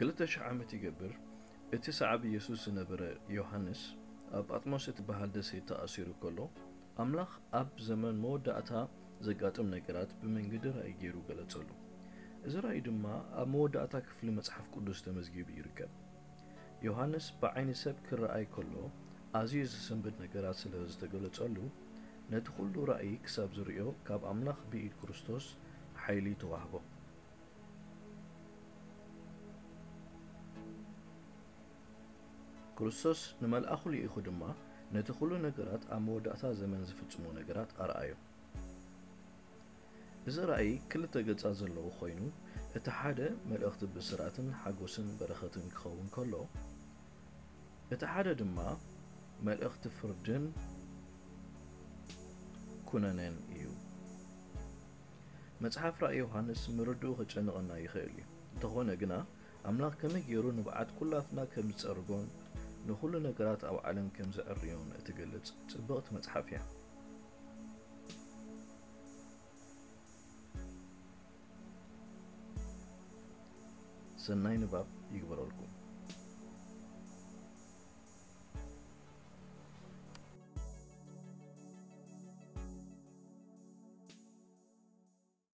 ክልተ ሽሕ ዓመት ይገብር፣ እቲ ሰዓቢ የሱስ ዝነበረ ዮሃንስ ኣብ ጳጥሞስ እትበሃል ደሴት ተኣሲሩ ከሎ፣ ኣምላኽ ኣብ ዘመን መወዳእታ ዘጋጥም ነገራት ብመንገዲ ራእይ ገይሩ ገለጸሉ። እዚ ራእይ ድማ ኣብ መወዳእታ ክፍሊ መጽሓፍ ቅዱስ ተመዝጊቡ ይርከብ። ዮሃንስ ብዓይኒ ሰብ ክረኣይ ከሎ ኣዝዩ ዝስንብድ ነገራት ስለ ዝተገለጸሉ፣ ነቲ ኩሉ ራእይ ክሳብ ዝርእዮ ካብ ኣምላኽ ብኢድ ክርስቶስ ሓይሊ ተዋህቦ። ክርስቶስ ንመልኣኹ ልኢኹ ድማ ነቲ ኩሉ ነገራት ኣብ መወዳእታ ዘመን ዝፍጽሞ ነገራት ኣርኣዮ። እዚ ራእይ ክልተ ገጻት ዘለዎ ኮይኑ፣ እቲ ሓደ መልእኽቲ ብስራትን ሓጎስን በረኸትን ክኸውን ከሎ፣ እቲ ሓደ ድማ መልእኽቲ ፍርድን ኩነኔን እዩ። መጽሓፍ ራእይ ዮሃንስ ምርድኡ ከጨንቐና ይኽእል እዩ። እንተኾነ ግና፣ ኣምላኽ ከመይ ገይሩ ንብዓት ኩላትና ከም ዝጸርጎን ንኹሉ ነገራት ኣብ ዓለም ከም ዘዕርዮን እትገልጽ ጽብቕቲ መጽሓፍ እያ። ሰናይ ንባብ ይግበረልኩም።